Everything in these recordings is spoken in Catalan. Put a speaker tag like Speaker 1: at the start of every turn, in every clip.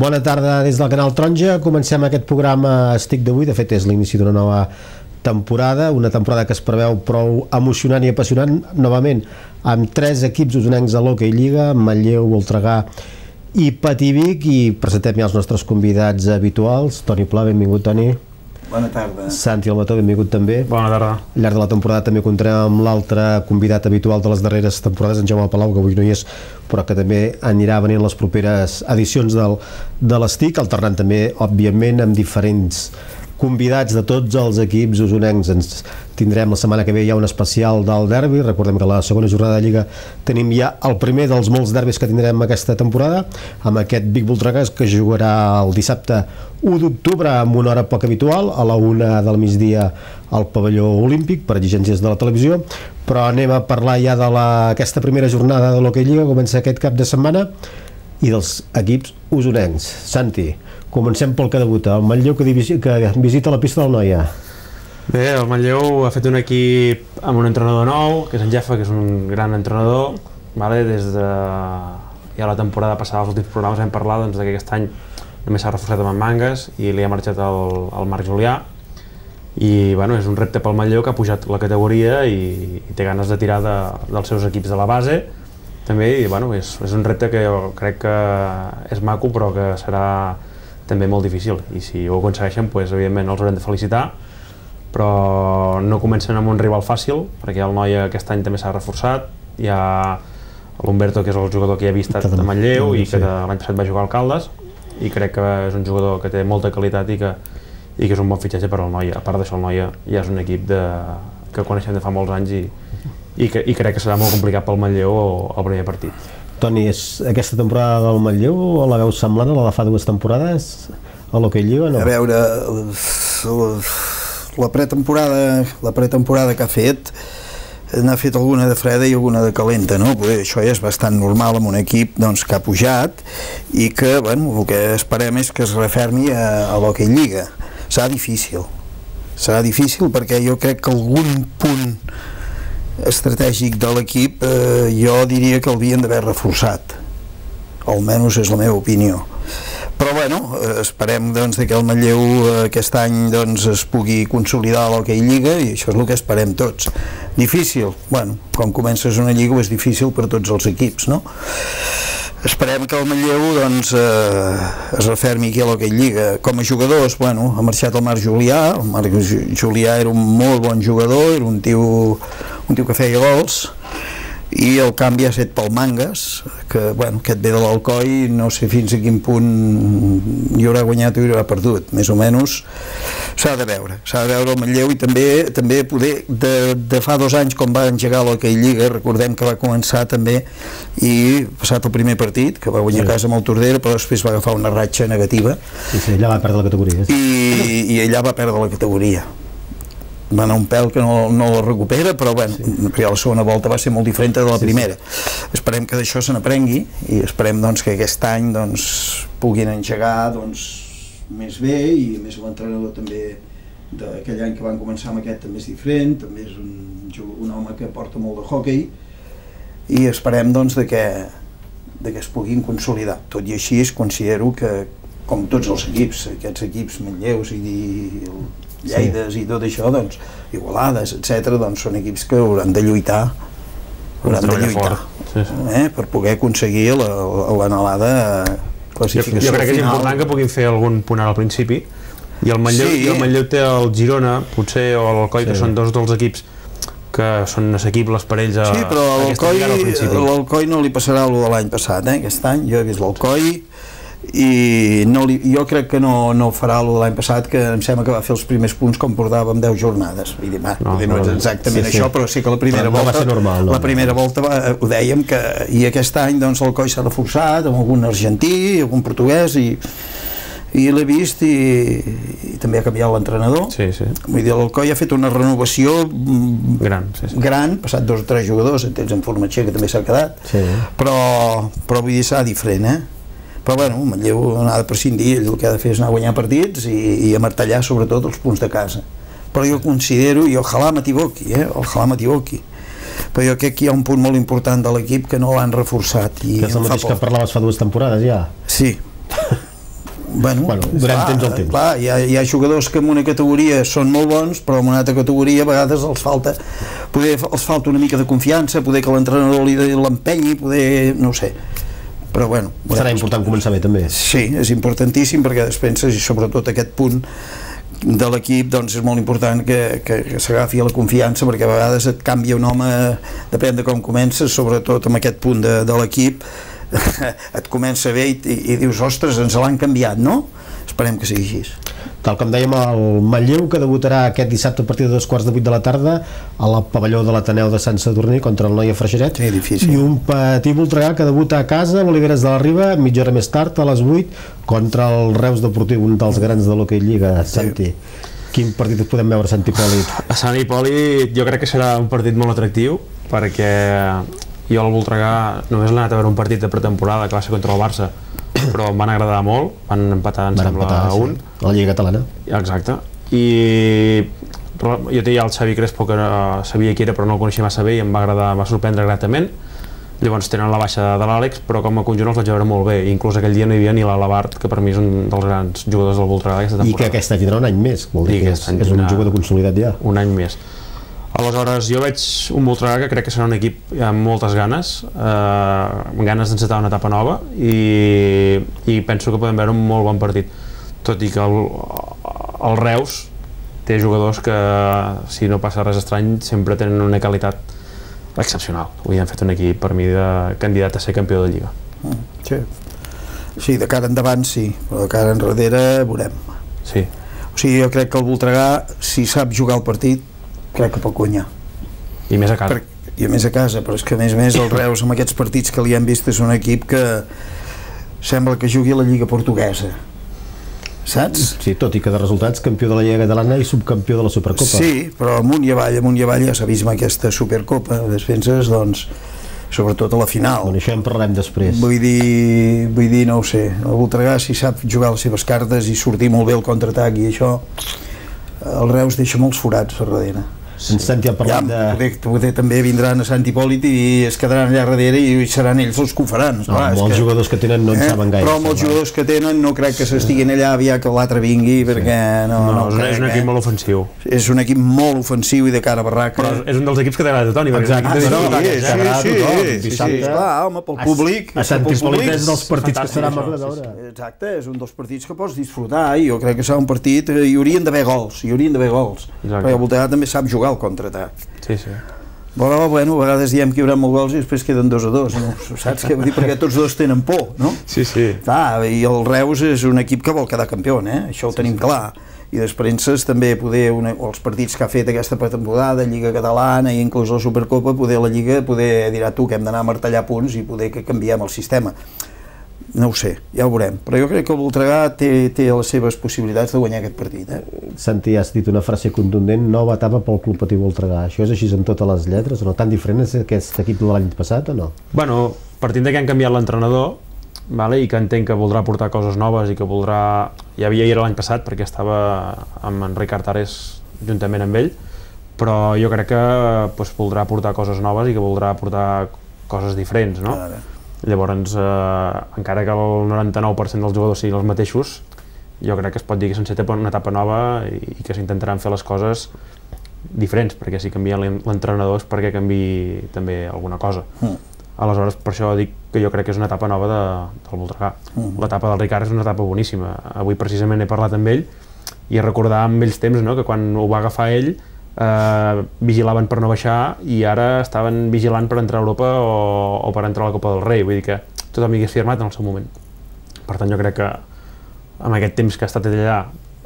Speaker 1: Bona tarda des del Canal Taronja. Comencem aquest programa Estic d'avui. De fet, és l'inici d'una nova temporada, una temporada que es preveu prou emocionant i apassionant, novament amb 3 equips usonencs a l'Hockey Lliga, Manlleu, Voltregà i Pativic, i presentem ja els nostres convidats habituals. Toni Pla, benvingut, Toni.
Speaker 2: Bona tarda.
Speaker 1: Santi Almató, benvingut també.
Speaker 3: Bona tarda.
Speaker 1: Al llarg de la temporada també comptarem amb l'altre convidat habitual de les darreres temporades, en Jaume Palau, que avui no hi és, però que també anirà venint les properes edicions de l'Estic, alternant també, òbviament, amb diferents convidats de tots els equips usonencs. Ens tindrem la setmana que ve ja un especial del derbi. Recordem que a la segona jornada de Lliga tenim ja el primer dels molts derbis que tindrem aquesta temporada, amb aquest Vic Voltregà, que jugarà el dissabte 1 d'octubre amb una hora poc habitual, a la 1 del migdia al pavelló olímpic, per exigències de la televisió. Però anem a parlar ja d'aquesta primera jornada de l'Hockey Lliga, comença aquest cap de setmana, i dels equips usonencs. Santi, comencem pel que debuta, el Manlleu, que visita la pista del Noia.
Speaker 3: Bé, el Manlleu ha fet un equip amb un entrenador nou, que és en Jeffa, que és un gran entrenador, vale? Des de ja la temporada passada, als últims programes vam parlar doncs, que aquest any només s'ha reforçat amb en Mangas i li ha marxat el Marc Julià, i bueno, és un repte pel Manlleu, que ha pujat la categoria i té ganes de tirar dels seus equips de la base també, i bueno, és un repte que jo crec que és maco, però que serà també molt difícil, i si ho aconsegueixen, doncs, evidentment els haurem de felicitar, però no comencen amb un rival fàcil, perquè el Noia aquest any també s'ha reforçat. Hi ha l'Humberto, que és el jugador que ja havia estat a Manlleu i que l'any passat va jugar al Caldes, i crec que és un jugador que té molta qualitat i que és un bon fitxatge per al Noia. A part d'això, el Noia ja és un equip que coneixem de fa molts anys i crec que serà molt complicat pel Manlleu el primer partit.
Speaker 1: Toni, és aquesta temporada del Manlleu o la veus semblant a la de fa 2 temporades a l'Hockey Lliga? No?
Speaker 2: A veure, la pretemporada que ha fet, n'ha fet alguna de freda i alguna de calenta, no? Això ja és bastant normal amb un equip doncs, que ha pujat i que, bueno, el que esperem és que es refermi a l'Hockey Lliga. Serà difícil perquè jo crec que algun punt estratègic de l'equip jo diria que l'havien d'haver reforçat, almenys és la meva opinió, però bueno, esperem doncs, que el Manlleu aquest any doncs, es pugui consolidar a l'Hockey Lliga, i això és el que esperem tots. Difícil? Bueno, quan comences una lliga és difícil per tots els equips, no? Esperem que el Manlleu doncs, es refermi aquí a l'Hockey Lliga. Com a jugadors, bueno, ha marxat el Marc Julià. El Marc Julià era un molt bon jugador, era un tio que feia gols, i el canvi ha estat pel Mangas, que et ve de l'Alcoi, no sé fins a quin punt hi haurà guanyat o hi haurà perdut, més o menys s'ha de veure el Manlleu. I també poder de fa 2 anys, quan va engegar l'Hockey Lliga, recordem que va començar també i passat el primer partit, que va guanyar a casa amb el Tordera, però després va agafar una ratxa negativa
Speaker 1: i allà va perdre la categoria
Speaker 2: i allà va perdre la categoria. Va anar un pèl que no la recupera, però bueno, perquè la segona volta va ser molt diferent de la primera. Esperem que d'això se n'aprengui i esperem doncs, que aquest any doncs, puguin engegar doncs, més bé, i més l'entrenador també d'aquell any que van començar amb aquest també és diferent, també és un home que porta molt de hockey, i esperem doncs, que es puguin consolidar. Tot i així considero que, com tots els equips, aquests equips Manlleus i Lleides i tot això, doncs, Igualades, etc., doncs són equips que hauran de lluitar per poder aconseguir l'anhelada classificació
Speaker 3: jo crec que és important que puguin fer algun punt al principi, i el Manlleu té el Girona, potser, o l'Alcoi, que són 2 dels equips que són assequibles per ells a
Speaker 2: l'Alcoi no li passarà el de l'any passat, aquest any jo he vist l'Alcoi i jo crec que no farà el de l'any passat, que em sembla que va fer els primers punts com portàvem 10 jornades. Vull dir, no és exactament això, però sí que la primera volta ho dèiem, i aquest any l'Alcoi s'ha reforçat amb algun argentí, algun portuguès, i l'he vist, i també ha canviat l'entrenador. Vull dir, l'Alcoi ha fet una renovació gran, passat 2 o 3 jugadors, en Formatxer, que també s'ha quedat, però vull dir, serà diferent, però bueno, el Manlleu n'ha de prescindir, ell el que ha de fer és anar a guanyar partits i a martellar sobretot els punts de casa. Però jo considero, i ojalà m'equivoqui, però jo crec que hi ha un punt molt important de l'equip que no l'han reforçat.
Speaker 1: Que és el mateix que parlaves fa 2 temporades ja.
Speaker 2: Sí,
Speaker 1: durant temps al temps.
Speaker 2: Clar, hi ha jugadors que en una categoria són molt bons, però en una altra categoria a vegades els falta una mica de confiança, poder que l'entrenador l'empenyi, poder, no ho sé. Però bueno...
Speaker 1: Serà important començar bé, també.
Speaker 2: Sí, és importantíssim, perquè després, i sobretot aquest punt de l'equip, doncs és molt important que s'agafi a la confiança, perquè a vegades et canvia un home, depèn de com comences, sobretot amb aquest punt de l'equip, et comença bé i dius, ostres, ens l'han canviat, no? Esperem que sigui així.
Speaker 1: Tal com dèiem, el Manlleu, que debutarà aquest dissabte a partir de 2:15 de la tarda a la pavelló de l'Ateneu de Sant Sadurní contra el Noia Freixeret.
Speaker 2: Sí, difícil.
Speaker 1: I un Patí Voltregà que debuta a casa, l'Oliveres de la Riba, mitja hora més tard, a les 8, contra el Reus Deportiu, un dels grans de l'hoquei Lliga. Santi, quin partit podem veure a Sant Hipòlit?
Speaker 3: A Sant Hipòlit jo crec que serà un partit molt atractiu, perquè jo al Voltregà només l'he anat a veure un partit de pretemporada que va ser contra el Barça, però em van agradar molt, van empatar, em sembla, a un.
Speaker 1: A la Lliga Catalana.
Speaker 3: Exacte. I jo tenia el Xavi Crespo, que sabia qui era però no el coneixia massa bé i em va agradar, em va sorprendre gratament. Llavors tenen la baixa de l'Àlex, però com a conjunt els vaig veure molt bé. Inclús aquell dia no hi havia ni l'Alabart, que per mi és un dels grans jugadors del Voltregà d'aquesta temporada.
Speaker 1: I que aquest any tindrà un any més, vol dir que és un jugador consolidat ja.
Speaker 3: Un any més. Aleshores, jo veig un Voltregà que crec que serà un equip amb moltes ganes, amb ganes d'encetar una etapa nova, i penso que podem veure un molt bon partit. Tot i que el Reus té jugadors que, si no passa res estrany, sempre tenen una qualitat excepcional. Avui han fet un equip, per mi, de candidat a ser campió de Lliga.
Speaker 2: Sí, de cara endavant sí, però de cara enrere veurem.
Speaker 3: Sí.
Speaker 2: O sigui, jo crec que el Voltregà, si sap jugar el partit, crec que pot guanyar.
Speaker 3: I més a casa.
Speaker 2: I a més a casa, però és que a més el Reus amb aquests partits que li hem vist és un equip que sembla que jugui a la Lliga Portuguesa, saps?
Speaker 1: Sí, tot i que de resultats campió de la Lliga Catalana i subcampió de la Supercopa.
Speaker 2: Sí, però amunt i avall ja s'ha vist amb aquesta Supercopa de defenses, doncs sobretot a la final.
Speaker 1: Bueno, això en parlarem després.
Speaker 2: Vull dir, no ho sé, el Voltregà si sap jugar les seves cartes i sortir molt bé el contraatac i això, el Reus deixa molts forats a darrere.
Speaker 1: En Santi ha parlat
Speaker 2: poder també vindran a Sant Hipòlit i es quedaran allà darrere i seran ells els que ho faran.
Speaker 1: Molts jugadors que tenen no en saben gaire.
Speaker 2: Però molts jugadors que tenen no crec que s'estiguin allà aviat que l'altre vingui, perquè no
Speaker 3: és un equip molt ofensiu.
Speaker 2: És un equip molt ofensiu i de cara a barraca.
Speaker 3: Però és un dels equips que t'agrada a Toni.
Speaker 2: Sí, clar, home, pel públic.
Speaker 1: A Sant Hipòlit és dels partits que serà molt de veure.
Speaker 2: Exacte, és un dels partits que pots disfrutar i jo crec que serà un partit, hi haurien d'haver gols, perquè el Voltregà també sap jugar al contraatac.
Speaker 3: Sí, sí.
Speaker 2: Però, bueno, a vegades diem que hi haurà molts gols i després queden 2-2, no? Saps què vull dir? Perquè tots dos tenen por, no?
Speaker 3: Sí, sí.
Speaker 2: I el Reus és un equip que vol quedar campió, això ho tenim clar. I després també poder, els partits que ha fet aquesta pretemporada, Lliga Catalana i inclús la Supercopa, poder la Lliga, dirà tu que hem d'anar a martellar punts i poder que canviem el sistema. No ho sé, ja ho veurem, però jo crec que el Voltregà té les seves possibilitats de guanyar aquest partit.
Speaker 1: Santi, has dit una frase contundent, nova etapa pel Club Patí Voltregà. Això és així en totes les lletres? No tan diferent és aquest equip de l'any passat o no?
Speaker 3: Bueno, partint de que han canviat l'entrenador, i que entenc que voldrà portar coses noves i que voldrà... Ja havia era l'any passat perquè estava amb en Ricard Ares juntament amb ell, però jo crec que voldrà portar coses noves i que voldrà portar coses diferents, no? Llavors, encara que el 99% dels jugadors siguin els mateixos, jo crec que es pot dir que s'enceta una etapa nova i que s'intentaran fer les coses diferents, perquè si canvien l'entrenador és perquè canviï també alguna cosa. Aleshores, per això dic que jo crec que és una etapa nova del Voltregà. L'etapa del Ricard és una etapa boníssima. Avui precisament he parlat amb ell i recordar amb vells temps que quan ho va agafar ell vigilaven per no baixar i ara estaven vigilant per entrar a Europa o per entrar a la Copa del Rei, vull dir que tothom hi hagués firmat en el seu moment. Per tant, jo crec que amb aquest temps que ha estat allà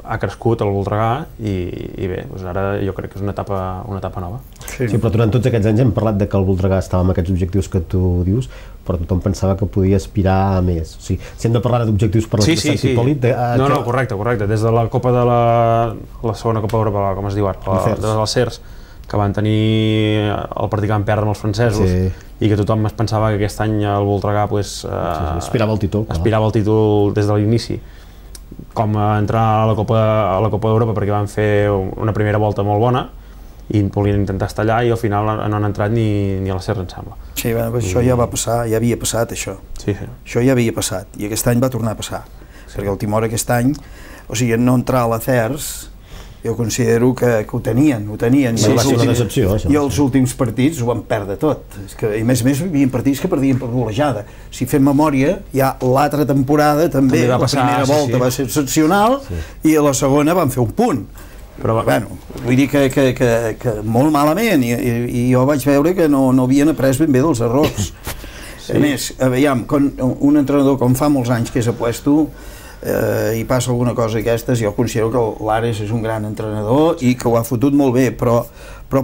Speaker 3: ha crescut el Voltregà i bé, ara jo crec que és una etapa nova.
Speaker 1: Sí, però durant tots aquests anys hem parlat de que el Voltregà estava amb aquests objectius que tu dius, però tothom pensava que podia aspirar a més. O sigui, si hem de parlar d'objectius per l'equip de Sant Hipòlit...
Speaker 3: No, correcte. Des de la Copa de la segona Copa d'Europa, com es diu ara, de les CERS, que van tenir el partit que van perdre amb els francesos i que tothom es pensava que aquest any el Voltregà
Speaker 1: aspirava al
Speaker 3: títol des de l'inici, com a entrar a la Copa d'Europa perquè van fer una primera volta molt bona i volien intentar estar allà i al final no han entrat ni a la CERS, em sembla.
Speaker 2: Sí, això ja va passar, ja havia passat això.
Speaker 3: Sí.
Speaker 2: Això ja havia passat i aquest any va tornar a passar. perquè el Timor aquest any, o sigui, no entrar a l'Acers, jo considero que ho tenien,
Speaker 1: Sí, va ser una decepció, això.
Speaker 2: I els últims partits ho van perdre tot. És que, i a més hi havia partits que perdien per golejada. Si fem memòria, ja l'altra temporada també
Speaker 3: va
Speaker 2: la
Speaker 3: passar,
Speaker 2: primera volta va ser excepcional i a la segona van fer un punt. Però bueno, vull dir que molt malament, i jo vaig veure que no havien après ben bé dels errors. A més, aviam, un entrenador com fa molts anys que és apuesto, i passa alguna cosa d'aquestes, jo considero que l'Ares és un gran entrenador i que ho ha fotut molt bé, però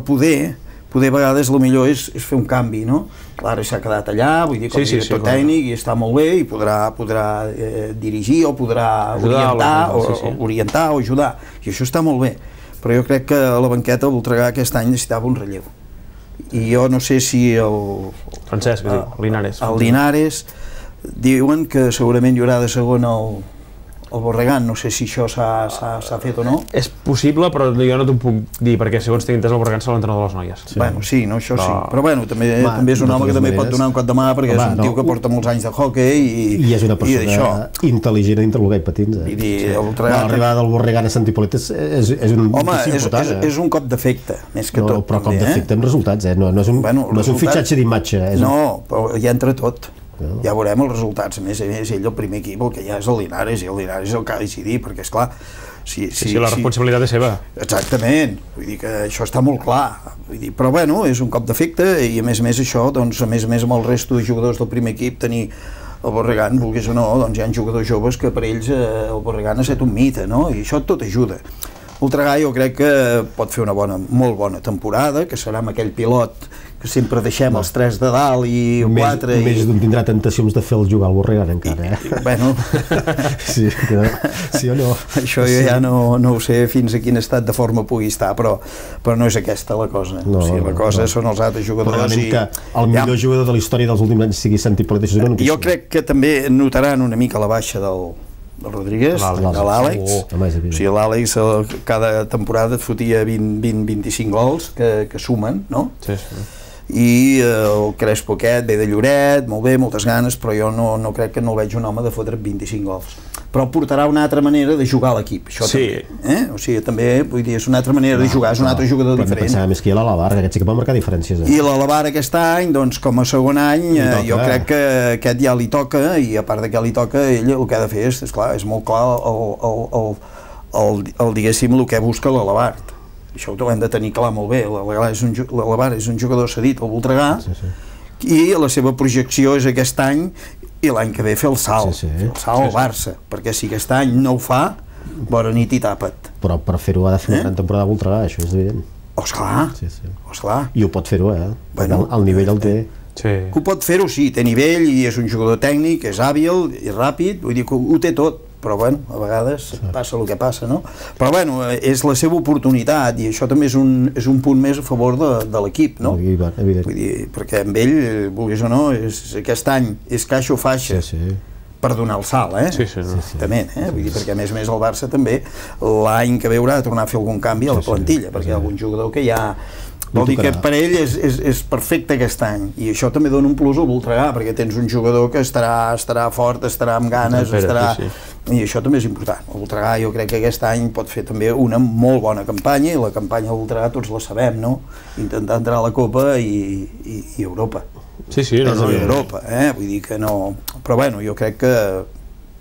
Speaker 2: poder a vegades el millor és fer un canvi, no? L'Ares s'ha quedat allà, vull dir, com a director tècnic, i està molt bé, i podrà dirigir o podrà orientar o ajudar, i això està molt bé, però jo crec que a la banqueta el Voltregà aquest any necessitava un relleu, i jo no sé si
Speaker 3: Francesc,
Speaker 2: el Linares diuen que segurament hi haurà de segon el Borregan, no sé si això s'ha fet o no.
Speaker 3: És possible, però jo no t'ho puc dir, perquè segons tinc entès el Borregan serà l'entrenador de les noies.
Speaker 2: Bueno, sí, no, això sí, però bueno, també és un home que també pot donar un cop de mà, perquè és un tio que porta molts anys de hoquei
Speaker 1: i és una persona intel·ligent entre el gai patins. L'arribada del Borregan a Sant Hipòlit és un
Speaker 2: important. Home, és un cop d'efecte, més que tot.
Speaker 1: Però cop d'efecte amb resultats, no és un fitxatge d'imatge.
Speaker 2: No, però hi entra tot. Ja veurem els resultats. A més, ell el primer equip, el que hi ha és el Linares, i el Linares és el que ha de decidir, perquè esclar,
Speaker 3: sí, la responsabilitat és seva.
Speaker 2: Exactament, vull dir que això està molt clar, però bueno, és un cop d'efecte, i a més això, doncs a més amb el resto de jugadors del primer equip, tenir el Borregan, vulguis o no, doncs hi ha jugadors joves que per ells el Borregan ha estat un mite, no? I això tot ajuda. Voltregà jo crec que pot fer una molt bona temporada, que serà amb aquell pilot que sempre deixem els 3 de dalt i 4...
Speaker 1: Més d'un tindrà tentacions de fer-lo jugar al Borregan encara,
Speaker 2: Bueno...
Speaker 1: Sí o no?
Speaker 2: Això jo ja no ho sé fins a quin estat de forma pugui estar, però no és aquesta la cosa. La cosa són els altres jugadors i...
Speaker 1: que el millor jugador de la història dels últims anys sigui Sant Hipòlit, això és una notícia.
Speaker 2: Jo crec que també notaran una mica la baixa del Rodríguez, de l'Àlex. O sigui, l'Àlex cada temporada et fotia 20-25 gols que sumen, no?
Speaker 3: Sí.
Speaker 2: I el Crespo aquest ve de Lloret, molt bé, moltes ganes, però jo no crec que no el veig un home de fotre 25 gols. Però portarà una altra manera de jugar a l'equip, això també. O sigui, també, vull dir, és una altra manera de jugar, és un altre jugador diferent.
Speaker 1: Però pensava més que hi ha l'Alabar, que aquest sí que pot marcar diferències.
Speaker 2: I l'Alabar aquest any, doncs, com a segon any, jo crec que aquest ja li toca, i a part de que li toca, ell el que ha de fer és clar, és molt clar diguéssim, el que busca l'Alabar. Això ho hem de tenir clar molt bé. L'Alabar és un jugador cedit al Voltregà i la seva projecció és aquest any i l'any que ve fer el salt al Barça, perquè si aquest any no ho fa, bona nit i tapa't.
Speaker 1: Però per fer-ho ha de fer una gran temporada a Voltregà, això és evident.
Speaker 2: Esclar.
Speaker 1: I ho pot fer-ho, el nivell el té.
Speaker 2: Ho pot fer-ho, sí, té nivell i és un jugador tècnic, és hàbil i ràpid, vull dir que ho té tot, però bueno, a vegades passa el que passa, no? Però bueno, és la seva oportunitat i això també és un punt més a favor de l'equip, no?
Speaker 1: Evident.
Speaker 2: Vull dir, perquè amb ell, vulguis o no, aquest any és caixa o faixa per donar el salt, també, vull dir, perquè a més el Barça també l'any que ve haurà de tornar a fer algun canvi a la plantilla, perquè hi ha algun jugador que ja... Vol dir que per ell és perfecte aquest any, i això també dona un plus al Voltregà, perquè tens un jugador que estarà fort, estarà amb ganes, i això també és important. El Voltregà jo crec que aquest any pot fer també una molt bona campanya, i la campanya del Voltregà tots la sabem, no? Intentar entrar a la Copa i Europa. Europa, vull dir que no... Però bueno, jo crec que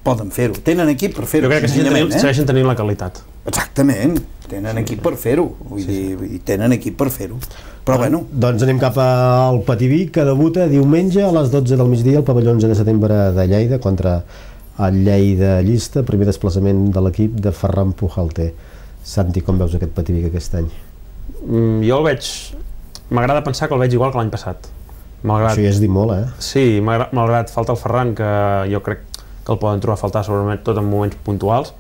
Speaker 2: poden fer-ho. Tenen equip per fer-ho.
Speaker 3: Jo crec que segueixen tenint la qualitat.
Speaker 2: Exactament, tenen equip per fer-ho, vull dir, tenen equip per fer-ho. Però bueno...
Speaker 1: Doncs anem cap al Pativí, que debuta diumenge a les 12 del migdia al pavelló 11 de setembre de Lleida contra el Lleida Llista, primer desplaçament de l'equip de Ferran Pujalter. Santi, com veus aquest Pativí aquest any?
Speaker 3: Jo el veig... M'agrada pensar que el veig igual que l'any passat.
Speaker 1: Això ja és dir molt,
Speaker 3: Sí, malgrat falta el Ferran, que jo crec que el poden trobar a faltar segurament tot en moments puntuals,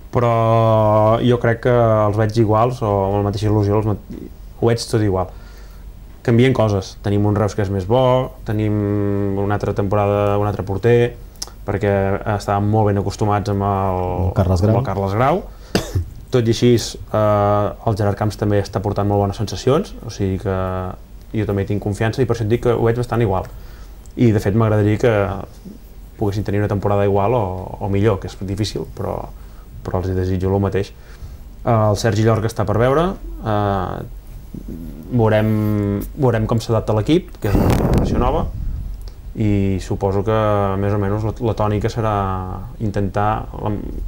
Speaker 3: però jo crec que els veig iguals o amb la mateixa il·lusió, ho veig tot igual. Canvien coses, tenim un Reus que és més bo, tenim una altra temporada, un altre porter, perquè estàvem molt ben acostumats amb el Carles Grau. Tot i així, el Gerard Camps també està portant molt bones sensacions, o sigui que jo també tinc confiança i per això et dic que ho veig bastant igual. I de fet m'agradaria que poguessin tenir una temporada igual o millor, que és difícil, però els desitjo el mateix. El Sergi Llorca està per veure, veurem com s'adapta l'equip, que és una incorporació nova, i suposo que més o menys la tònica serà intentar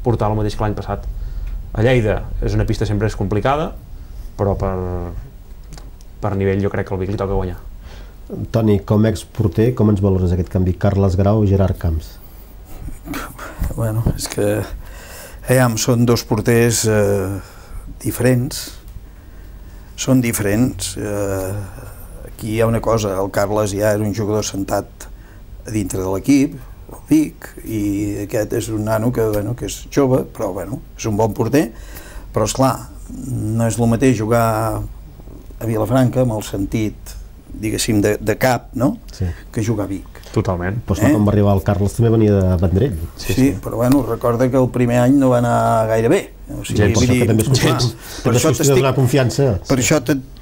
Speaker 3: portar el mateix que l'any passat. A Lleida és una pista sempre és complicada, però per nivell jo crec que al Vic li toca guanyar.
Speaker 1: Toni, com a exporter, com ens valores aquest canvi? Carles Grau i Gerard Camps?
Speaker 2: Bueno, és que són dos porters diferents. Són diferents. Aquí hi ha una cosa, el Carles ja era un jugador sentat a dintre de l'equip, el Vic, i aquest és un nano que és jove, però és un bon porter, però esclar, no és el mateix jugar a Vilafranca amb el sentit, diguéssim, de cap, no?
Speaker 1: Sí.
Speaker 2: Que jugar a Vic.
Speaker 3: Totalment.
Speaker 1: Però quan va arribar el Carles també venia de Vendrell.
Speaker 2: Sí, però recorda que el primer any no va anar gaire bé. O sigui,
Speaker 1: per això que també és qüestió de donar confiança.
Speaker 2: Per això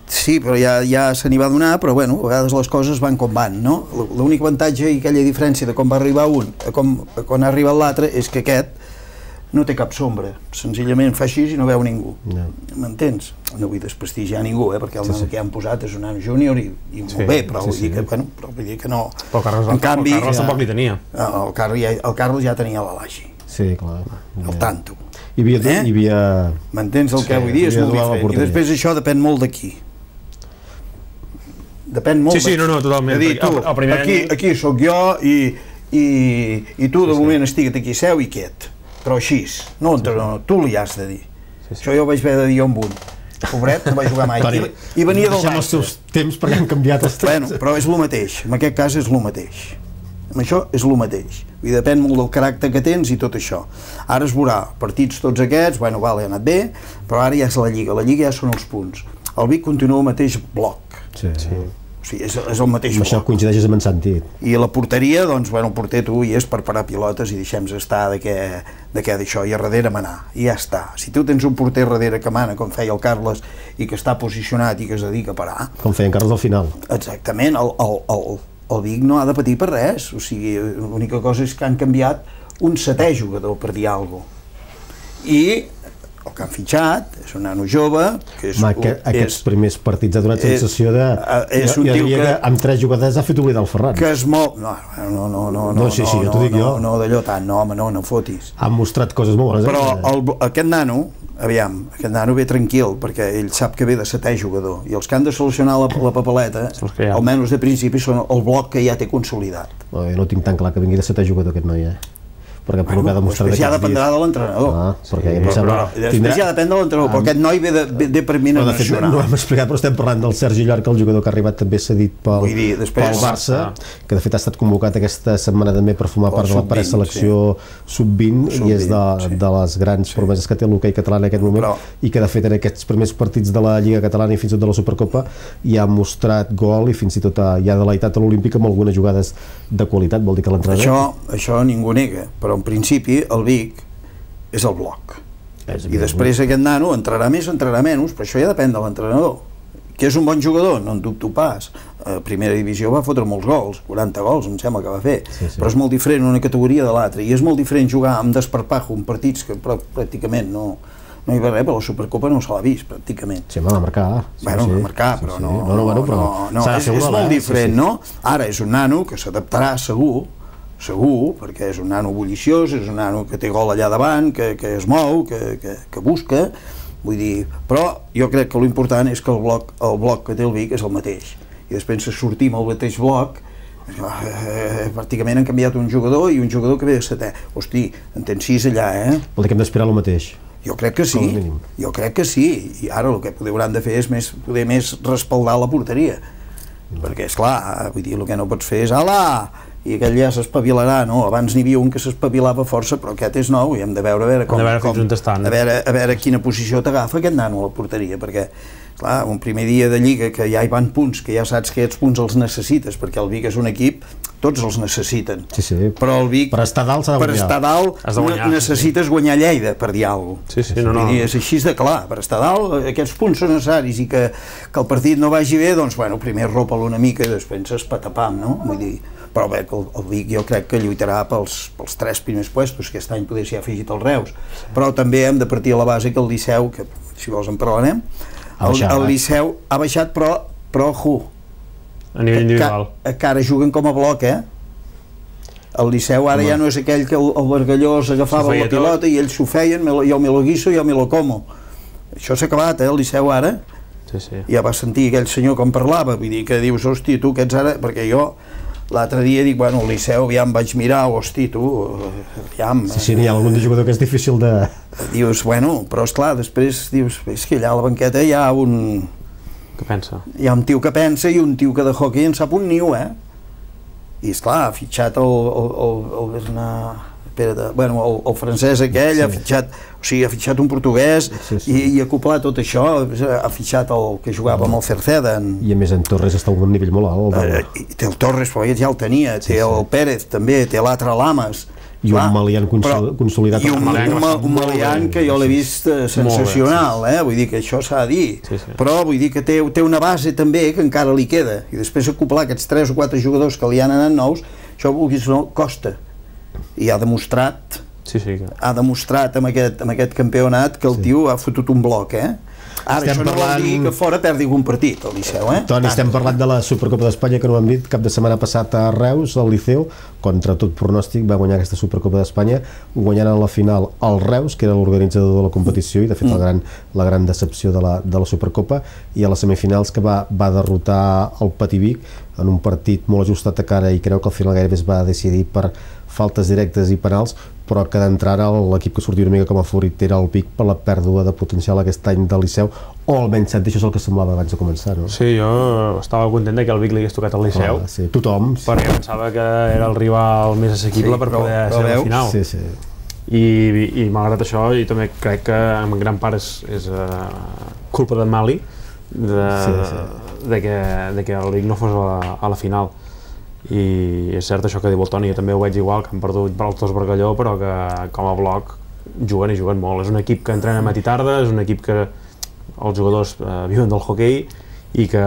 Speaker 2: sí, però ja se n'hi va donar, però a vegades les coses van com van, no? L'únic avantatge i aquella diferència de com va arribar un a quan ha arribat l'altre és que aquest no té cap sombra, senzillament fa així i no veu ningú, m'entens? No vull desprestigiar ningú, perquè el nano que han posat és un nano júnior i molt bé, però vull dir que no...
Speaker 3: Però el Carles tampoc li tenia.
Speaker 2: El Carles ja tenia l'Alagi.
Speaker 1: Sí, clar.
Speaker 2: El tanto.
Speaker 1: Hi havia...
Speaker 2: M'entens el que vull dir? És molt diferent. I després això depèn molt d'aquí. Depèn molt d'aquí.
Speaker 3: Sí, no, totalment.
Speaker 2: Aquí sóc jo i tu de moment estigua't aquí seu i quiet. Però així, no, tu li has de dir. Això jo ho vaig haver de dir amb un. Pobret, no va jugar mai. I venia del Barça.
Speaker 1: Deixem els teus temps perquè han canviat els temps.
Speaker 2: Però és el mateix, en aquest cas és el mateix. Amb això és el mateix. I depèn molt del caràcter que tens i tot això. Ara es veurà, partits tots aquests, ha anat bé, però ara ja és la Lliga ja són els punts. El Vic continua el mateix bloc.
Speaker 1: Sí.
Speaker 2: O sigui, és el mateix bloc.
Speaker 1: Això coincideixes amb en Santi.
Speaker 2: I la porteria, doncs, el porter tu hi és per parar pilotes i deixem-nos estar d'això, i a darrere manar, i ja està. Si tu tens un porter darrere que mana, com feia el Carles, i que està posicionat i que es dedica a parar...
Speaker 1: Com feia en Carles al final.
Speaker 2: Exactament, el Vic no ha de patir per res, o sigui, l'única cosa és que han canviat un setè jugador, per dir alguna cosa. I el que han fitxat és un nano jove que
Speaker 1: aquests primers partits ha donat sensació de... Jo diria que amb 3 jugadors ha fet oblidar el Ferran.
Speaker 2: Que es mou... No,
Speaker 1: jo t'ho dic jo.
Speaker 2: No, d'allò tant, no, home, no fotis.
Speaker 1: Han mostrat coses molt bones.
Speaker 2: Però aquest nano, aquest nano ve tranquil, perquè ell sap que ve de setè jugador, i els que han de solucionar la papeleta, almenys de principi, són el bloc que ja té consolidat.
Speaker 1: Jo no tinc tan clar que vingui de setè jugador aquest noi, perquè per el que ha demostrat
Speaker 2: després ja dependrà de l'entrenador. Després ja depèn de l'entrenador, però aquest noi ve per mi nacional.
Speaker 1: No ho hem explicat, però estem parlant del Sergi Llorca, el jugador que ha arribat també cedit pel Barça, que de fet ha estat convocat aquesta setmana també per formar part de la preselecció sub-20 i és de les grans promeses que té l'hoquei català en aquest moment, i que de fet en aquests primers partits de la Lliga Catalana i fins i tot de la Supercopa ja ha mostrat gol i fins i tot ja ha deleitat a l'Olímpic amb algunes jugades de qualitat. Vol dir que l'entrenador...
Speaker 2: Això ningú nega, però en principi el Vic és el bloc, i després aquest nano entrarà més, entrarà menys, però això ja depèn de l'entrenador. Que és un bon jugador, no en dubto pas. A primera divisió va fotre molts gols, 40 gols em sembla que va fer, però és molt diferent una categoria de l'altra, i és molt diferent jugar amb desparpajo en partits que pràcticament no hi va res, però la Supercopa no se l'ha vist pràcticament.
Speaker 1: Sí, va marcar.
Speaker 2: Bueno, va marcar, però no, és molt diferent, no? Ara és un nano que s'adaptarà segur, perquè és un nano bulliciós, és un nano que té gol allà davant, que es mou, que busca, vull dir, però jo crec que l'important és que el bloc que té el Vic és el mateix, i després de sortir amb el mateix bloc, pràcticament han canviat un jugador i un jugador que ve de setè. Hosti, en tens 6 allà,
Speaker 1: Vol dir que hem d'esperar el mateix.
Speaker 2: Jo crec que sí, i ara el que hauran de fer és poder més respaldar la porteria, perquè esclar, vull dir, el que no pots fer és ala, i aquell ja s'espavilarà, no? Abans n'hi havia un que s'espavilava força, però aquest és nou i hem de veure a veure quina posició t'agafa aquest nano a la porteria, perquè clar, un primer dia de Lliga que ja hi van punts, que ja saps que aquests punts els necessites, perquè el Vic és un equip, tots els necessiten, però el Vic
Speaker 1: per estar dalt s'ha de guanyar,
Speaker 2: per estar dalt necessites guanyar Lleida, per dir alguna cosa. És així de clar, per estar dalt aquests punts són necessaris, i que el partit no vagi bé, doncs bueno, primer ropa-lo una mica i després es patapam, no? Vull dir, però bé, el Vic jo crec que lluitarà pels 3 primers puestos, aquest any potser s'hi ha afegit el Reus, però també hem de partir a la base que el Liceu, que si vols en parlarem, el Liceu ha baixat, però
Speaker 3: a nivell individual
Speaker 2: que ara juguen com a bloc, el Liceu ara ja no és aquell que el Bargalló s'agafava la pilota i ells s'ho feien, jo me lo guiso, jo me lo como. Això s'ha acabat, el Liceu ara. Ja vas sentir aquell senyor com parlava, vull dir que dius, hosti, tu que ets ara, perquè jo l'altre dia dic, bueno, el Liceu ja em vaig mirar, hosti, tu, aviam...
Speaker 1: Sí, n'hi ha algun jugador que és difícil de...
Speaker 2: Dius, bueno, però esclar, després dius, és que allà a la banqueta hi ha un...
Speaker 3: Que pensa?
Speaker 2: Hi ha un tio que pensa i un tio que de hockey en sap un niu, I esclar, ha fitxat el francès aquell, ha fitxat un portuguès i ha acoplat tot això, ha fitxat el que jugava amb el Cerceda.
Speaker 1: I a més en Torres està a un nivell molt alt.
Speaker 2: Té el Torres, però ja el tenia, té el Pérez també, té l'altre Lamas.
Speaker 1: I un Malian consolidat.
Speaker 2: I un Malian que jo l'he vist sensacional, vull dir que això s'ha de dir, però vull dir que té una base també que encara li queda, i després acoplar aquests 3 o 4 jugadors que li han anat nous, això vulguis o no, costa. I ha demostrat amb aquest campionat que el tio ha fotut un bloc, Ara, això no vol dir que fora perdi un partit, el Liceu,
Speaker 1: Toni, estem parlant de la Supercopa d'Espanya que no ho hem dit, cap de setmana passat a Reus, el Liceu, contra tot pronòstic, va guanyar aquesta Supercopa d'Espanya, guanyant a la final el Reus, que era l'organitzador de la competició, i de fet la gran decepció de la Supercopa, i a les semifinals que va derrotar el Pativic en un partit molt ajustat a cara i creu que al final gairebé es va decidir per faltes directes i penals, però que d'entrada l'equip que sortia una mica com a favorit era el Vic per la pèrdua de potencial aquest any del Liceu, o almenys això és el que semblava abans de començar, no?
Speaker 3: Sí, jo estava content que el Vic li hagués tocat al Liceu,
Speaker 1: tothom,
Speaker 3: perquè pensava que era el rival més assequible per poder ser a la final. I malgrat això, jo també crec que en gran part és culpa de Mali de que el Vic no fos a la final. I és cert això que diu el Toni, jo també ho veig igual, que han perdut per els dos Bargalló, però que com a bloc juguen i juguen molt. És un equip que entrena matí i tarda, és un equip que els jugadors viuen del hoquei i que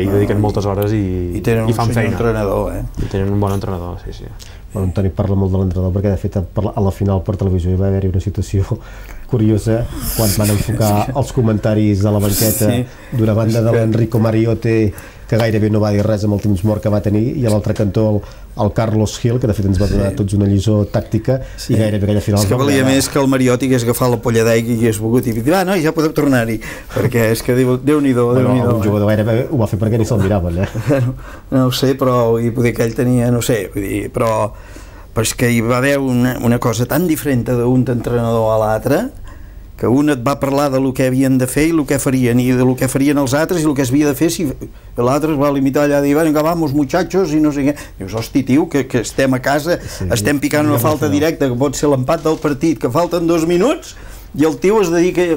Speaker 3: hi dediquen moltes hores i fan feina. I tenen un bon entrenador, sí.
Speaker 1: Bueno, en Toni parla molt de l'entrenador perquè de fet a la final per televisió hi va haver-hi una situació curiosa quan van enfocar els comentaris a la banqueta d'una banda de l'Enrico Mariotte, que gairebé no va dir res amb el temps mort que va tenir, i a l'altre cantó el Carlos Gil, que de fet ens va donar tots una lliçó tàctica, i gairebé aquella final...
Speaker 2: És que valia més que el Mariotti hagués agafat la polla d'aigua i hagués volgut i dir, no, ja podeu tornar-hi, perquè és que Déu-n'hi-do.
Speaker 1: Un jugador gairebé ho va fer perquè ni se'l miraven,
Speaker 2: No ho sé, però poder que ell tenia, no sé, però és que hi va haver una cosa tan diferent d'un entrenador a l'altre, que un et va parlar de lo que havien de fer i el que farien, i de lo que farien els altres i el que es havia de fer, si l'altre es va limitar allà a dir, venga, vamos muchachos, i no sé què. Dius, hosti, tio, que estem a casa, estem picant una falta directa, que pot ser l'empat del partit, que falten 2 minuts, i el tio es dedica,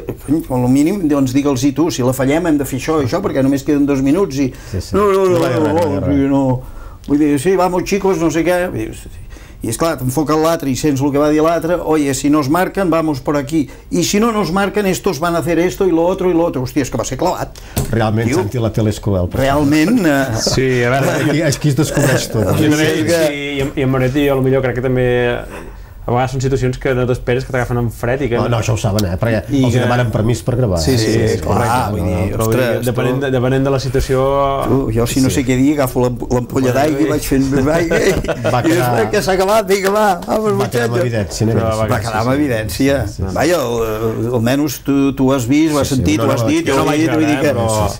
Speaker 2: al mínim, doncs digue'ls-hi tu, si la fallem hem de fer això, perquè només queden 2 minuts, i no, vull dir, sí, vamos chicos, no sé què, i esclar, t'enfoca l'altre i sents el que va dir l'altre, oye, si nos marcan, vamos por aquí, i si no nos marcan, estos van a hacer esto y lo otro, hòstia, és que va ser clavat.
Speaker 1: Realment, sentir la tele és cruel.
Speaker 2: Realment...
Speaker 3: Sí, a veure...
Speaker 1: Aquí es descobreix tot.
Speaker 3: I en Moretti, jo potser crec que també... A vegades són situacions que no t'esperes, que t'agafen en fred i que...
Speaker 1: No, això ho saben, perquè els demanen permís per gravar.
Speaker 2: Sí, clar, vull dir, ostres...
Speaker 3: Depenent de la situació...
Speaker 2: Jo, si no sé què dir, agafo l'ampolla d'aigua i vaig fent aigua i després que s'ha acabat, vinga, va,
Speaker 1: va quedar amb evidència.
Speaker 2: Va quedar amb evidència. Vaja, almenys tu has vist, ho has sentit, ho has dit, jo ho he dit, vull dir que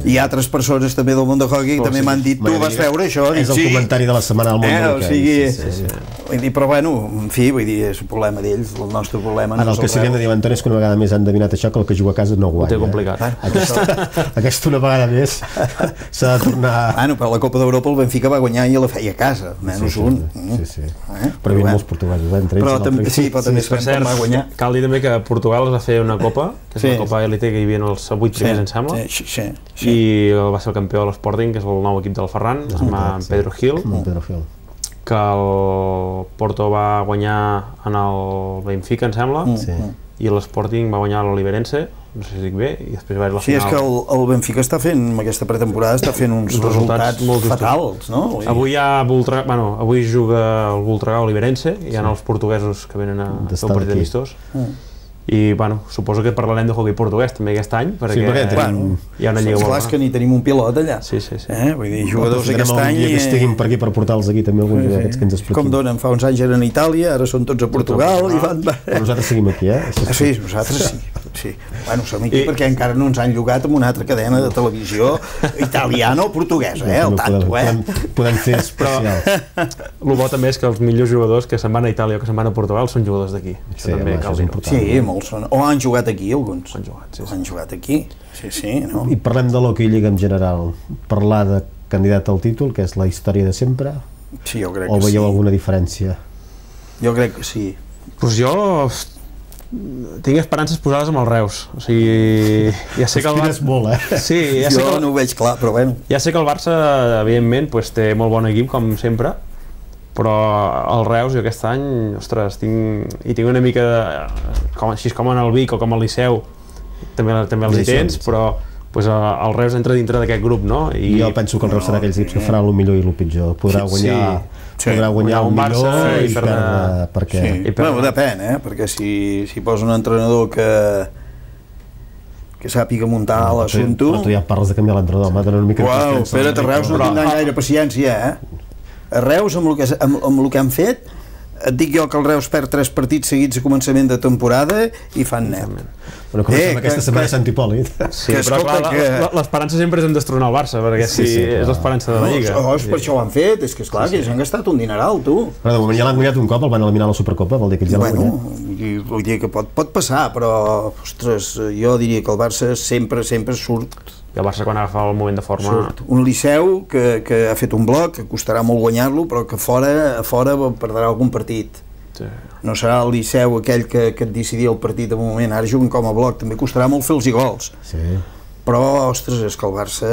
Speaker 2: hi ha altres persones també del món de hockey que també m'han dit, tu vas veure això?
Speaker 1: És el comentari de la setmana al món del hockey.
Speaker 2: Però bueno, en fi, vull dir, és un problema d'ells, el nostre problema no és
Speaker 1: el que s'havien de dir, Antoni, és que una vegada més han endevinat això, que el que juga a casa no guanya.
Speaker 3: Ho té complicat.
Speaker 1: Aquesta una vegada més s'ha de tornar...
Speaker 2: Bueno, per la Copa d'Europa el Benfica va guanyar i la feia a casa, menys un.
Speaker 1: Sí. Però hi havia molts portuguesos, entre ells.
Speaker 2: Sí, però també sabem com va guanyar.
Speaker 3: Cal dir també que Portugal es va fer una copa, que és la Copa Elite, que hi havia els 8 primers, em sembla, i va ser el campió de l'Sporting, que és el nou equip del Ferran, es llama Pedro Gil, que el Porto va guanyar en el Benfica, em sembla, i l'Sporting va guanyar l'Oliverense, no sé si dic bé, i després va haver la
Speaker 2: Sí,
Speaker 3: final.
Speaker 2: és que el Benfica està fent, amb aquesta pretemporada, està fent uns resultats
Speaker 3: molt justos.
Speaker 2: fatals, no?
Speaker 3: Avui avui juga el Voltregà Oliverense, hi ha els portuguesos que venen a fer un partit amistós. I, bueno, suposo que parlarem de hoquei portuguès també aquest any, perquè hi ha una lliga
Speaker 2: molt bona. És que ni tenim un pilot allà.
Speaker 3: Sí.
Speaker 2: Vull dir, jugadors aquest any...
Speaker 1: que estiguin per aquí per portar-los aquí també alguns d'aquests que ens expliquin.
Speaker 2: Com donen, fa uns anys eren a Itàlia, ara són tots a Portugal i van...
Speaker 1: Però nosaltres seguim aquí,
Speaker 2: Sí, nosaltres sí. Bueno, som aquí perquè encara no ens han llogat amb una altra cadena de televisió italiana o portuguesa, al tanto,
Speaker 1: Podem fer especials.
Speaker 3: El bo també és que els millors jugadors que se'n van a Itàlia o que se'n van a Portugal són jugadors d'aquí. Això també cal dir-ho.
Speaker 2: Sí, molts són. O han jugat aquí, alguns.
Speaker 3: Han
Speaker 2: jugat aquí, sí, no?
Speaker 1: I parlem de l'Hockey Lliga en general. Parlar de candidat al títol, que és la història de sempre?
Speaker 2: Sí, jo crec que sí.
Speaker 1: O veieu alguna diferència?
Speaker 2: Jo crec que sí.
Speaker 3: Doncs jo tinc esperances posades amb el Reus, o sigui, ja sé que el
Speaker 1: Barça... molt,
Speaker 2: Sí, jo no ho veig clar, però bueno.
Speaker 3: Ja sé que el Barça, evidentment, té molt bon equip, com sempre, però el Reus jo aquest any, ostres, tinc una mica, així com en el Vic o com el Liceu, també els hi tens, però el Reus entra dintre d'aquest grup, no?
Speaker 1: I jo penso que el Reus serà aquells equips que farà el millor i el pitjor, podrà guanyar el millor i perdre perquè...
Speaker 2: Bueno, depèn, perquè si posa un entrenador que sàpiga muntar l'assumpte...
Speaker 1: Però tu ja parles de canviar l'entrenador, m'ha donat una mica de
Speaker 2: confiança. Espera't, a Reus no tindran gaire paciència, A Reus, amb el que han fet, et dic jo que el Reus perd 3 partits seguits a començament de temporada i fan net.
Speaker 1: Bueno, comencem aquesta setmana a Sant Hipòlit.
Speaker 3: Sí, però clar, l'esperança sempre és en destronar el Barça, perquè és l'esperança de la Lliga.
Speaker 2: Per això ho han fet, és que esclar, que ells han gastat un dineral, tu.
Speaker 1: Però de moment ja l'han guanyat un cop, el van eliminar a la Supercopa, vol dir que ells ja l'han guanyat.
Speaker 2: Vull dir que pot passar, però, ostres, jo diria que el Barça sempre surt.
Speaker 3: I el Barça quan agafa el moment de forma...
Speaker 2: Un Liceu que ha fet un bloc, que costarà molt guanyar-lo, però que a fora perdrà algun partit. No serà el Liceu aquell que et decidia el partit en un moment, ara juguen com a bloc, també costarà molt fer els gols. Però, ostres, és que el Barça,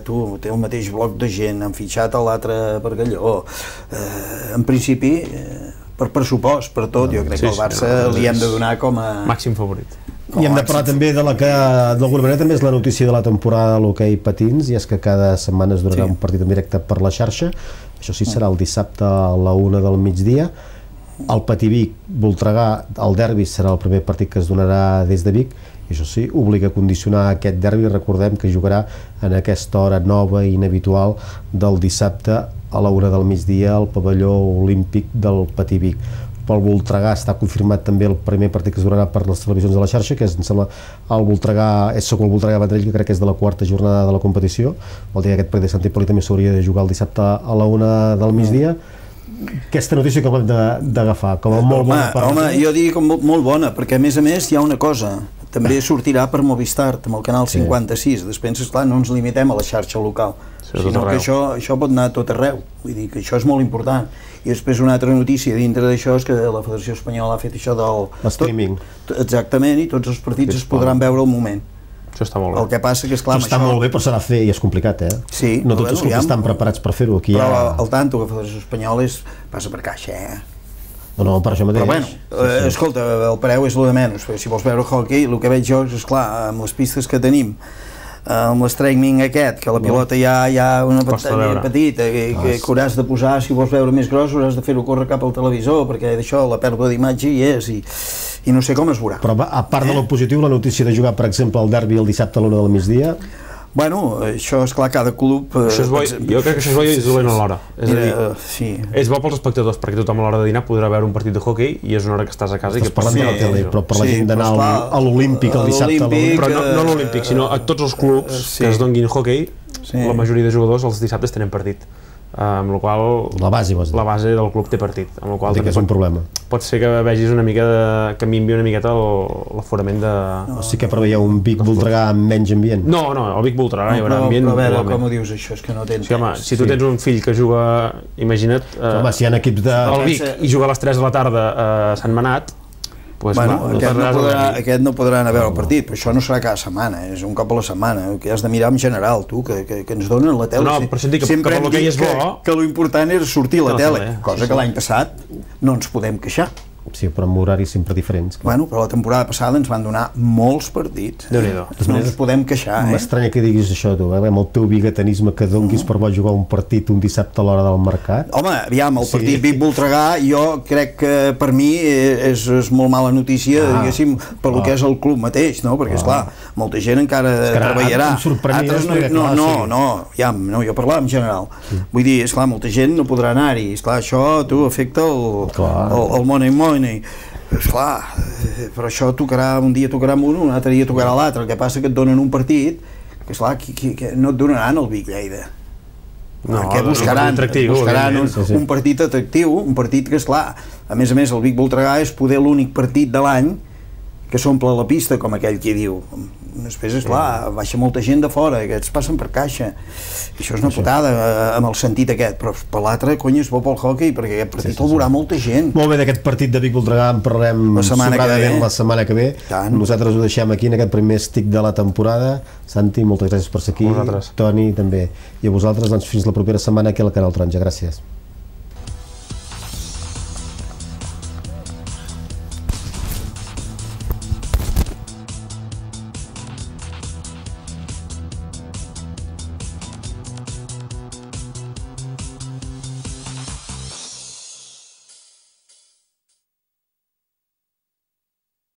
Speaker 2: té el mateix bloc de gent, han fitxat l'altre Bargalló. En principi, per pressupost, per tot, jo crec que el Barça li hem de donar com a...
Speaker 3: màxim favorit.
Speaker 1: I hem de parlar també de la que d'alguna manera també és la notícia de la temporada de l'hoquei patins, i és que cada setmana es donarà un partit en directe per la xarxa. Això sí, serà el dissabte a la 1 del migdia. El Patí Vic, Voltregà, el derbi serà el primer partit que es donarà des de Vic, i això sí, obliga a condicionar aquest derbi. Recordem que jugarà en aquesta hora nova i inhabitual del dissabte a la 1 del migdia al pavelló olímpic del Patí Vic. Pel Voltregà està confirmat també el primer partit que es donarà per les televisions de la xarxa, que és, em sembla, el Voltregà, és el Voltregà Vendrell, que crec que és de la 4ª jornada de la competició. Vol dir que aquest partit de Sant Hipòlit també s'hauria de jugar el dissabte a la 1 del migdia. Aquesta notícia com hem d'agafar? Com a molt bona?
Speaker 2: Home, jo diria com molt bona, perquè a més hi ha una cosa, també sortirà per Movistar, amb el canal 56, després, esclar, no ens limitem a la xarxa local, sinó que això pot anar a tot arreu, vull dir que això és molt important. I després una altra notícia dintre d'això és que la Federació Espanyola ha fet això del...
Speaker 1: Streaming.
Speaker 2: Exactament, i tots els partits es podran veure al moment.
Speaker 3: Això està molt bé.
Speaker 2: El que passa que, esclar,
Speaker 1: això està molt bé, però s'ha de fer i és complicat,
Speaker 2: Sí.
Speaker 1: No tots els clubs estan preparats per fer-ho.
Speaker 2: Però al tanto que la Federació Espanyola passa per caixa,
Speaker 1: No, per això mateix.
Speaker 2: Però bueno, escolta, el preu és el de menys. Si vols veure hockey, el que veig jo és, esclar, amb les pistes que tenim, amb l'streaming aquest, que la pilota hi ha una pantalla petita que hauràs de posar, si vols veure més gros hauràs de fer-ho córrer cap al televisor, perquè d'això la pèrdua d'imatge hi és i no sé com es veurà.
Speaker 1: Però a part de lo positiu, la notícia de jugar, per exemple, el derbi el dissabte a l'1 del migdia...
Speaker 2: Bueno, això és clar, cada club...
Speaker 3: Jo crec que això és bo i és dolent alhora. És a dir, és bo pels espectadors, perquè tothom a l'hora de dinar podrà veure un partit de hoquei i és una hora que estàs a casa i que
Speaker 1: pots veure la tele, però per la gent d'anar a l'Olímpic el dissabte a l'1...
Speaker 3: Però no a l'Olímpic, sinó a tots els clubs que es donguin hoquei, la majoria de jugadors els dissabtes tenen partit. Amb la qual
Speaker 1: la base
Speaker 3: del club té partit, amb la qual
Speaker 1: que és un problema.
Speaker 3: Pot ser que vegis una mica que minvi una miqueta l'aforament de...
Speaker 1: O sí que preveieu un Vic Voltregà amb menys ambient?
Speaker 3: No, el Vic Voltregà hi haurà ambient.
Speaker 2: Però a veure, com ho dius això, és que no tens...
Speaker 3: Si tu tens un fill que juga, imagina't...
Speaker 1: Home, si hi ha equips de...
Speaker 3: El Vic i juga a les 3 de la tarda a Sant Manat,
Speaker 2: aquest no podrà anar a veure el partit, però això no serà cada setmana, és un cop a la setmana, que has de mirar en general, tu, que ens donen la tele.
Speaker 3: No, però això et dic que per l'hoquei és bo...
Speaker 2: Que l'important és sortir a la tele, cosa que l'any passat no ens podem queixar.
Speaker 1: Sí, però amb horaris sempre diferents.
Speaker 2: Bueno, però la temporada passada ens van donar molts partits.
Speaker 3: Déu-n'hi-do.
Speaker 2: No ens podem queixar,
Speaker 1: M'estranya que diguis això, tu, amb el teu biguetanisme que donguis per bo jugar un partit un dissabte a l'hora del mercat.
Speaker 2: Home, aviam, el partit Vic-Voltregà jo crec que per mi és molt mala notícia, diguéssim, per lo que és el club mateix, no? Perquè, esclar, molta gent encara treballarà.
Speaker 1: Em sorprenia.
Speaker 2: No, jo parlava en general. Vull dir, esclar, molta gent no podrà anar-hi. Esclar, això, tu, afecta el money. Esclar, però això tocarà, un dia tocarà amb un altre dia tocarà l'altre. El que passa que et donen un partit que, esclar, que no et donaran el Vic-Lleida. Perquè buscaran un partit atractiu, un partit que, esclar, a més el Vic-Voltregà és poder l'únic partit de l'any que s'omple la pista, com aquell qui diu. Després, esclar, baixa molta gent de fora, aquests passen per caixa. I això és una putada, amb el sentit aquest, però per l'altre, cony, és bo pel hockey, perquè aquest partit el veurà molta gent.
Speaker 1: Molt bé, d'aquest partit de Vic-Voltregà en parlarem sobradament la setmana que ve. Nosaltres ho deixem aquí en aquest primer stick de la temporada. Santi, moltes gràcies per ser aquí. Toni, també. I a vosaltres, doncs, fins la propera setmana aquí al Canal Taronja. Gràcies.